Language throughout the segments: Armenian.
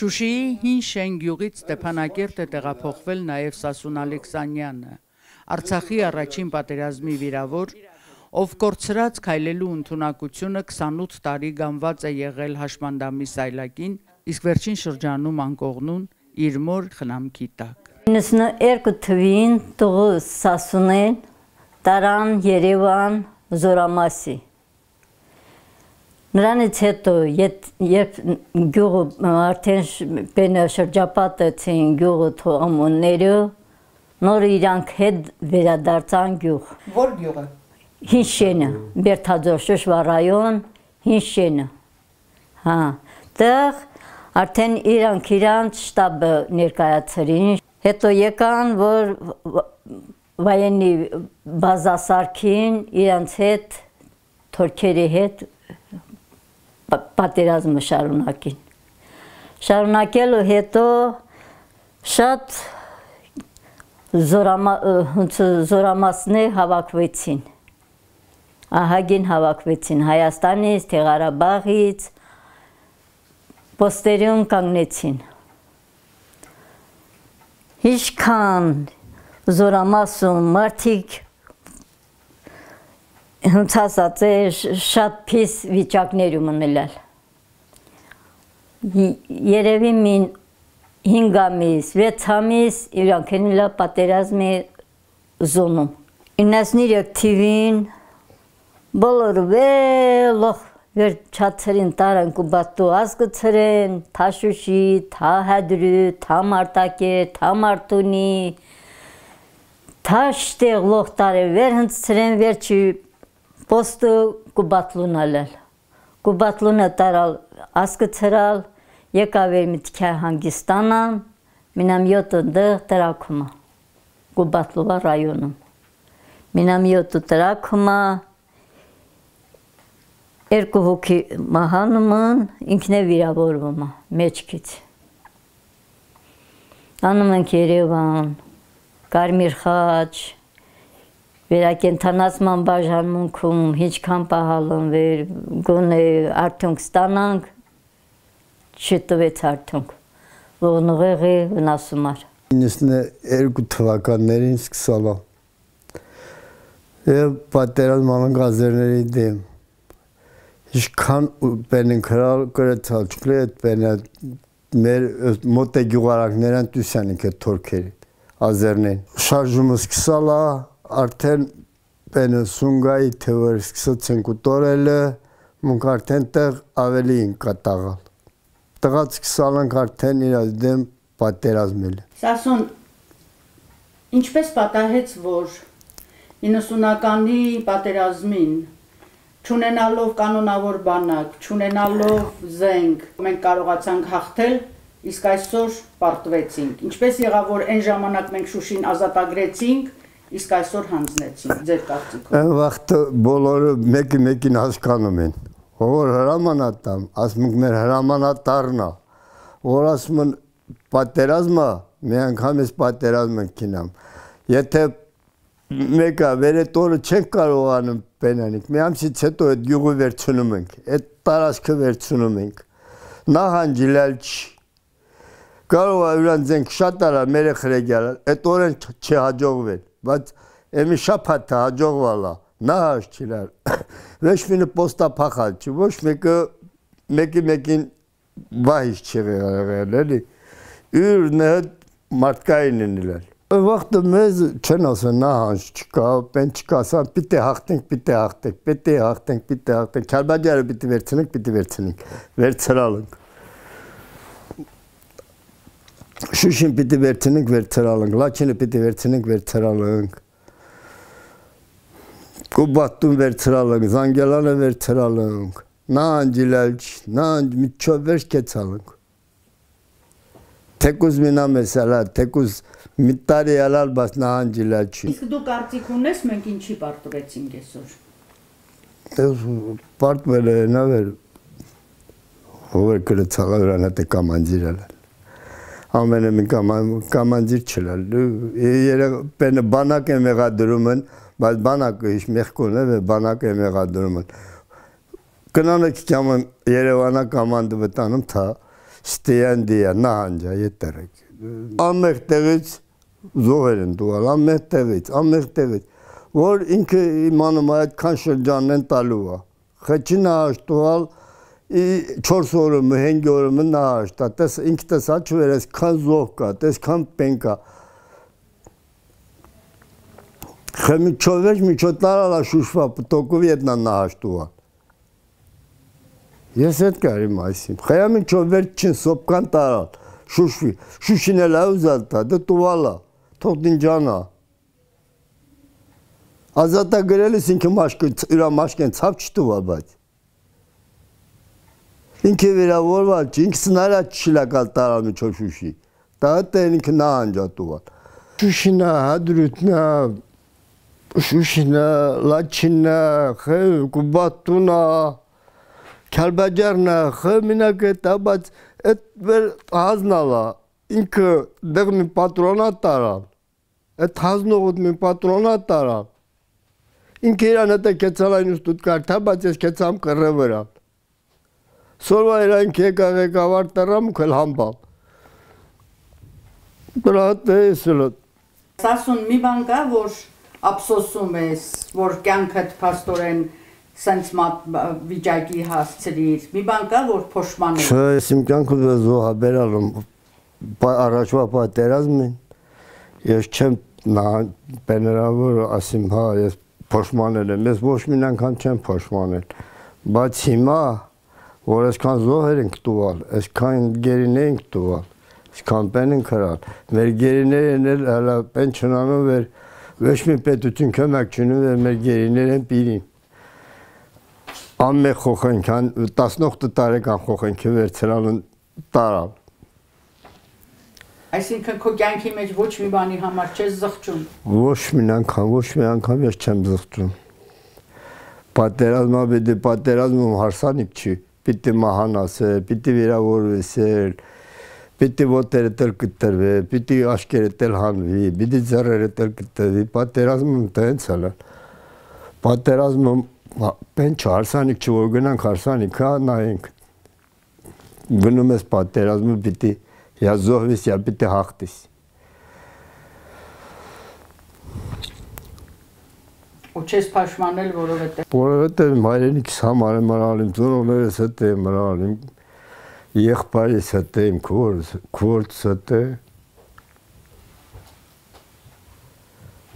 Շուշիի հին շեն գյուղից Ստեփանակերտ է տեղափոխվել նաև Սասուն Ալեքսանյանը, Արցախի առաջին պատերազմի վիրավոր, ով կորցրած քայլելու ընդունակությունը 28 տարի գանված է եղել հաշմանդամի սայլակին, իսկ վերջին շրջանում անկողնուն իր մոր խնամքի տակ։ 92 թվին տղուս Սասունեն տարան Երևան Զորամասի։ Նրանից հետո, երբ գյուղը արդեն բենը շրջապատեցին գյուղը թողամունները, նոր իրանք հետ վերադարձան գյուղ։ Որ գյուղը։ Հին շենը, Բերթաձոր Շոշվա ռայոն, հին շենը։ Հա, տեղ արդեն իրանք շտաբը ներկայացրին, հետո եկան, որ վայենի բազասարքին իրանց հետ, թորքերի հետ պատերազմը շարունակին։ Շարունակելու հետո շատ զորամասներ հավաքվեցին, ահագին հավաքվեցին Հայաստանից, Ղարաբաղից, պոստերում կանգնեցին։ Ինչքան զորամասում մարդիկ հնցածած է շատ փիս վիճակներում ունելալ։ Երևի մին 5 ամիս, 6 ամիս իրանք էնիլա պատերազմի զոնում։ 93 թիվին բոլոր վելող վերջացրին տարան Կուբատու ազգցրեն, թա Շուշի, թա Հադրու, թա Մարտակեր, թա Մարտունի, թա շտեղ լող տարը վեր հնցրեն վերջի պոստը Կուբատլունալել։ Կուբատլունը տարալ ասկցրալ, եկավ էր միտքյա հանգիստանան, մինամյոտը դեղ տրակումա, Կուբատլուվա ռայոնում։ Մինամյոտը տրակումա, երկու հոգի մահանումն, ինքն է վիրավորվում մեջքից։ Անում ենք Երևան, Կարմիր խաչ, վերակենդանացման բաժանմունքում ինչքան պահալն վեր, գոնե արդյունք ստանանք, չտվեց արդյունք, ողնուղեղի վնասումար։ 92 թվականներին սկսալա և պատերազմ անենք ազերների դեմ, ինչքան պեն ենք հրալ կրեցալ չկլի էտ պենը մեր մոտ է գյուղարակներան տուսյան ենք էտ թորքերի, ազերնեն։ Շարժումը սկսալա, արդեն պենը սունգայի թևր սկսեցենք ուտորելը, մունք արդեն տեղ ավելի ենք կատաղալ։ Տղաց սկսալանք արդեն իրաց դեմ պատերազմել։ Սասուն, ինչպես պատահեց, որ 90-ականի պատերազմին, չունենալով կանոնավոր բանակ, չունենալով զենք, մենք կարողացանք հաղթել, իսկ այսօր պարտվեցինք։ Ինչպես եղավ, որ այն ժամանակ մենք Շուշին ազատագրեցինք, իսկ այսօր հանձնեցինք, ձեր կարծիքով։ Այն վաղթը բոլորը մեկին հասկանում են, որ հրամանատամ, ասում ենք մեր հրամանատարնա, որ ասում են պատերազմը, մի անգամ ես պատերազմ ենք կինամ, եթե մեկը վերետ օրը չենք կարողանում պենանիք, մի ամսից հետո այդ գյուղը վերցնում ենք, այդ տարածքը վերցնում ենք, նահանջիլել չի, կարող է ուրանց ենք շատ արա մեր է խրեգյալը, այդ օրեն չհաջողվել, բայց էմի շապատ հաջողվալա, նահաշ չիլար, ոչ մինը պոստա պախալ չի, ոչ մեկին վահիշ չի եղել, էլի, ուրն հետ մարդկային են իլար։ Վաղթը մեզ չեն ասեն նահանջ չկա, պեն չկա, ասան պիտի հաղթենք, Քարբաջարը պիտի վերցնենք, վերցրալ ենք։ Շուշին պիտի վերցնենք, վերցրալ ենք, Լաչինը պիտի վերցնենք, վերցրալ ենք, Կուբատուն վերցրալ ենք, Զանգելանը վերցրալ ենք, նահանջիլել չի, միջով վերջ կեցալ ենք։ Թեկուզ մինամ ես ալալ, թեկուզ մի տարի ալալ, բաց նահանջիլել չի։ Իսկ դու կարծիք ունես, մենք ինչի պարտվեցինք այսօր։ Պարտվել է նավեր, հովեր կրեցալա վրան հետ է կամանջիր ալալ։ Ամենը մի կամանջիր չլալ, պենը բանակ է մեղադրում են, բայց բանակը իշ մեղքուն է, բանակ է մեղադրում են։ Կնանը կիքաման Երևանա կամանdı վտանում թա, ստեանդիա նահանջա ետրեք ամեղ տեղից զոհեր են տուալ ամեղ տեղից որ ինքը իմանում այդքան շրջանն են տալու է խեչի նահանջ տուալ 4 օրը 5 օրը նահանջ տա տես ինքը տեսա չվեր այսքան զոհ կա տեսքան պեն կա խմի չովեր միջոտարալա շուշվա պտոկով ետնա նահանջ տուալ Ես այդ կարիմ այսիմ, խայամին չովեր չին սոպկան տարալ, շուշվի, շուշին էլ այուզալ տա, դը տուվալա, թող դինջանա։ Ազատա գրելիս ինքը իրա մաշկեն ծավ չտուվալ բայց։ Ինքը վերավորվալ չի, ինքը սնարա չիլակալ տարալ միջով շուշի, դա հտեն ինքը նահանջա տուվալ։ Շուշինա, հադրութնա, շուշինա, լաչինա, կուբատունա, Քալբաջարնա խմինակը տաբած այդ վեր հազնալա ինքը դեղ մի պատրոնատ տարալ այդ հազնողոտ մի պատրոնատ տարալ ինքը իրան հետը կեցալայն ուստուտ կար տաբած ես կեցամ կռը վրան սորվա իրան կեկաղ եկավար տարամ ու կել համբալ դրա հետ է սլոտ Սասուն մի բան կա, որ ափսոսում ես, որ կյանքդ փաստորեն Սենց վիճակի հասցրիր, մի բան կա, որ փոշման է։ Չէ, ես իմ կյանքում զոհաբերալում առաջվա պատերազմին, ես չեմ բեներավոր ասիմ, հա, ես փոշմանել եմ, ես ոչ մին անգամ չեմ փոշմանել, բայց հիմա, որ այսքան զոհեր ենք տուալ, այսքան գերին ենք տուալ, այսքան պեն ենք հրալ, մեր գերիներն էլ հələ պեն չնանում վեր, ոչ մի պետություն կմակ չնում վեր, մեր գերիներ են պիրին։ Ամե խոխենքան 18 տարեկան խոխենքի վերցրալն տարալ։ Այսինքն քո կյանքի մեջ ոչ մի բանի համար չես զղջում։ Ոչ մի անգամ ես չեմ զղջում։ Պատերազմը պիտի պատերազմում հարսանիք չի, պիտի մահանասել, պիտի վիրավորվեսել, պիտի ոտերը տել կտրվի, պիտի աշկերը տել հանվի, պիտի ձեռերը տել կտրվի, պատերազմում տենց հələ։ Պատերազմում Պեն չարսանիք չոր գնանք հարսանիք, հա նայենք, գնում ես պատերազմը պիտի յա զոհվիս, յա պիտի հաղթիս։ Ու չես փաշմանել որովհետև։ Որովհետև մայրենիքս համար եմ մրալ, իմ ծնողներս հետ եմ մրալ, իմ եղբայրս հետ եմ, քորձ հետ է։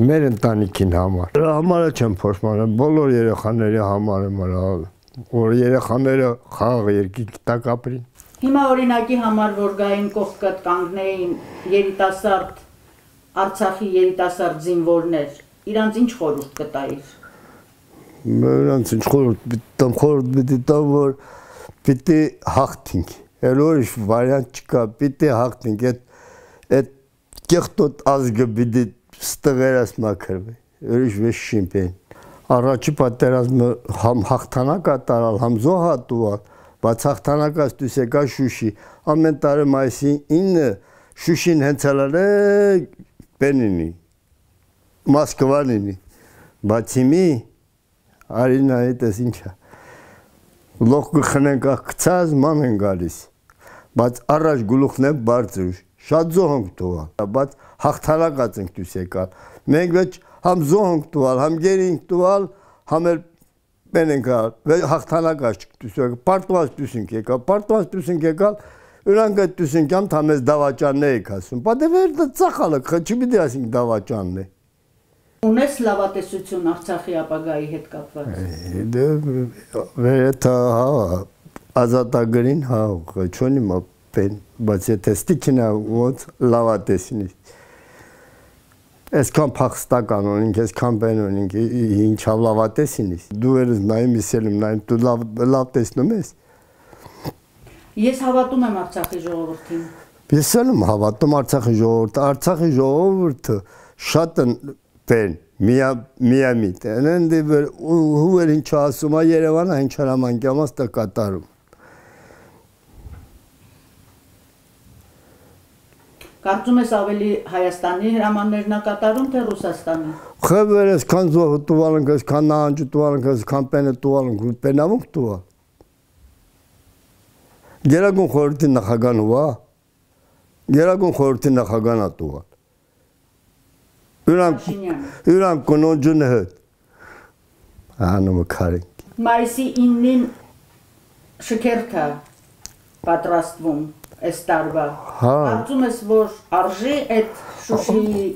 Մեր ընտանիքին համար։ Դրա համար չեմ փոշմանել, բոլոր երեխաների համար եմ մրալ, որ երեխաները խաղ երկինք տակ ապրին։ Հիմա օրինակի համար, որ գային կողքդ կանգնեին երիտասարդ Արցախի երիտասարդ զինվորներ, իրանց ինչ խորհուրդ կտայիր։ Իրանց ինչ խորհուրդ պիտի տամ, որ պիտի հաղթենք։ Էլ ուրիշ վարիանտ չկա, պիտի հաղթենք, այդ կեղտոտ ազգը պիտի ստղերաս մաքրվի, ուրիշ վեշ շիմպեն։ Առաջի պատերազմը համ հաղթանակա տարալ, համ զոհա տուալ, բայց հաղթանակած դուս եկա Շուշի, ամեն տարի մայիսի 9 Շուշին հենց հալալ է պենինի, Մոսկվանինի, բայց հիմի արինայի տես ինչա, լող գխնենք աղկցած ման են գալիս, բայց առաջ գլուխն է բարձր, շատ զոհ ենք տուալ, բայց հաղթանակած ենք դուս եկալ, մենք վեճ համ զոհ ենք տուալ, համ գերի ենք տուալ, համ էլ պեն ենք ալ, հաղթանակած դուս եկալ, պարտված դուս ենք եկալ, պարտված դուս ենք եկալ, ուրանք այդ դուս ենք ամ թամես դավաճանն էիք ասում, պատեվեր դա ծախալը, չի պիտի ասինք դավաճանն է։ Ունես լավատեսություն Արցախի ապագայի հետ կապված։ Վերեթա ազատագրին հա չոնի մապեն, բայց եթե ստիքինա ոնց լավատեսինի։ Այսքան փախստական ունենք, այսքան բեն ունենք, ինչավ լավատեսինի։ Դու երես նայում իսելում, նայում դու լավ տեսնում ես։ Ես հավատում եմ Արցախի ժողովրդին։ Ես եմ հավատում Արցախի ժողովրդը, Արցախի ժողովուրդը շատ բեն միամիտ, ընդ ու ինչ ասում է Երևանը, ինչ հրամանկյամաս տա կատարում։ Կարծում ես ավելի Հայաստանի հրամաններն է կատարում, թե Ռուսաստանի։ Խաբեր այսքան զոհ տուալ ենք, այսքան նահանջ տուալ ենք, այսքան պենը տուալ ենք, պենավունք տուալ։ Գերագույն խորհրդի նախագահն ո՞վ է։ Գերագույն խորհրդի նախագահն է տուղան։ Յուրան կնոջն հետ։ Անումը քարին։ Մայիսի 9-ին շքերթա պատրաստվում այս տարվա։ Կարծում ես, որ արժի այդ Շուշիի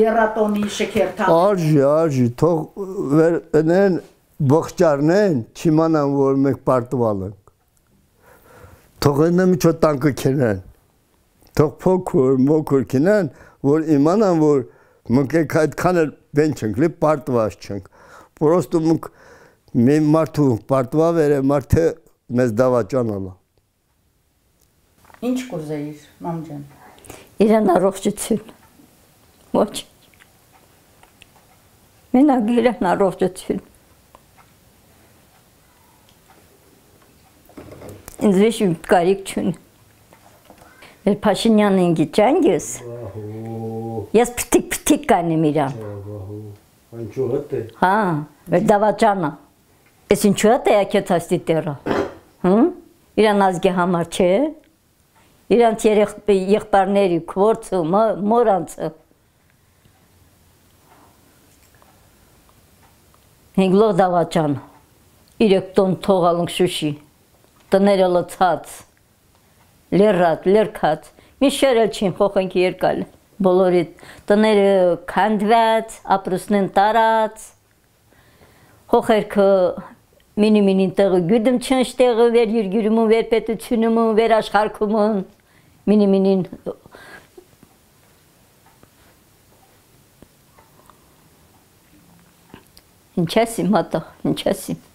երատոնի շքերթան։ Արժի, թող վերնեն բողջարնեն, չիմանան, որ մենք պարտվալ ենք։ Թող այնը միջոտ տանկը կենեն, թող փոքր կենեն, որ իմանան, որ մենք այդքան էլ բեն չենք, լի պարտված չենք, պրոստու մենք մի մարդու պարտվավ էր է մարդը մեզ դավաճանալա։ Ինչ կուզեիր, մամ ջան։ Իրան առողջություն, ոչ, մենակ իրան առողջություն։ Ինձ վիշ կարիք չունի։ Մեր Փաշինյանն գիճանգես, ես պտիկ կանեմ իրան։ Անչու հատ է։ Հա, մեր դավաճանա։ Ես ինչու հատ է ակետ հաստի տերա։ Իրան ազգի համար չէ, իրանց եղբարների քվորցը, մորանցը։ 5 լող դավաճան, 3 տոն թողալնք Շուշի, տները լծած, լերատ, լերքած, մի շերել չին խոխենք երկալ, բոլորի տները կանդված, ապրուսնեն տարած, խոխերքը մինի տեղը գյուդում չնշ տեղը վեր յուրգյուրումն, վեր պետությունումն, վեր աշխարքումն, մինին ինչ ասիմ հատա, ինչ ասիմ